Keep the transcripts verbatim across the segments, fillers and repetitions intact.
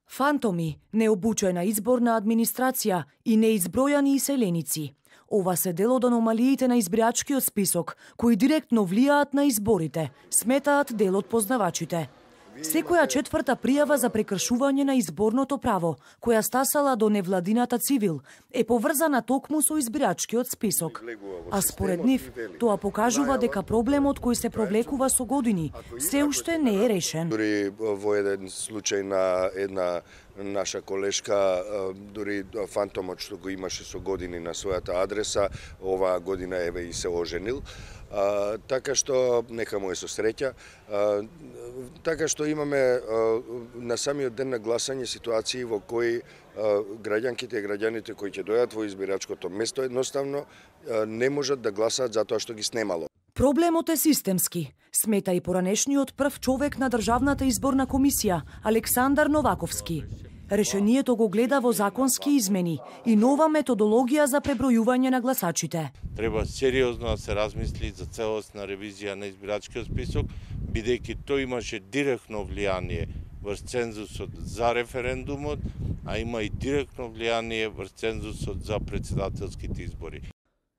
Фантоми, необучена изборна администрација и неизбројани иселеници. Ова се дел од аномалиите на избирачкиот список, кои директно влијаат на изборите, сметаат дел од познавачите. Секоја четврта пријава за прекршување на изборното право, која стасала до невладината Цивил, е поврзана токму со избирачкиот список. А според нив, тоа покажува дека проблемот кој се провлекува со години се уште не е решен. Дури во еден случај на една наша колешка, дури фантомот што го имаше со години на својата адреса, оваа година еве и се оженил. А, така што нека му е со среќа. А, така што имаме а, на самиот ден на гласање ситуации во кои а, граѓанките и граѓаните кои ќе дојдат во избирачкото место едноставно а, не можат да гласаат затоа што ги снемало. Проблемот е системски, смета и поранешниот прв човек на Државната изборна комисија, Александар Новаковски. Решението го гледа во законски измени и нова методологија за пребројување на гласачите. Треба сериозно да се размисли за целосна ревизија на избирачкиот список, бидејќи тој имаше директно влијание врз цензусот за референдумот, а има и директно влијание врз цензусот за претседателските избори.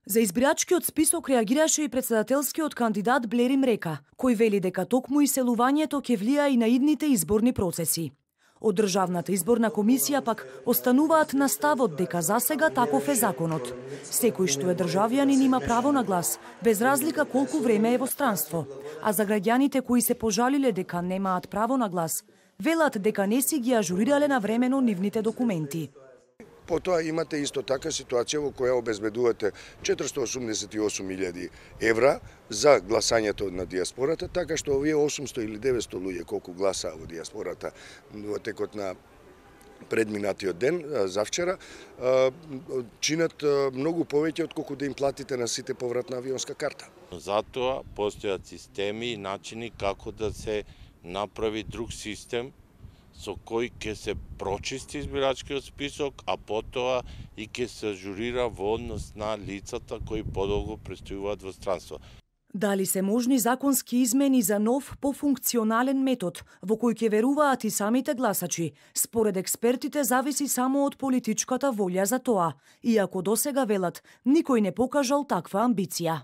За избирачкиот список реагираше и претседателскиот кандидат Блери Мрека, кој вели дека токму иселувањето ќе влија и на идните изборни процеси. Од Државната изборна комисија пак остануваат на ставот дека засега таков е законот. Секој што е државјанин има право на глас, без разлика колку време е во странство. А за граѓаните кои се пожалиле дека немаат право на глас, велат дека не си ги ажурирале навремено нивните документи. Потоа имате исто така ситуација во која обезбедувате четиристо осумдесет и осум илјади евра за гласањето на дијаспората, така што овие осумсто или деветсто луѓе колку гласаа во дијаспората во текот на предминатиот ден, завчера, чинат многу повеќе од колку да им платите на сите повратна авионска карта. Затоа постојат системи и начини како да се направи друг систем со кој ќе се прочисти избирачкиот список, а потоа и ќе се ажурира во однос на лицата кои подолго престојуваат во странство. Дали се можни законски измени за нов, пофункционален метод, во кој ќе веруваат и самите гласачи, според експертите зависи само од политичката волја за тоа, иако досега велат, никој не покажал таква амбиција.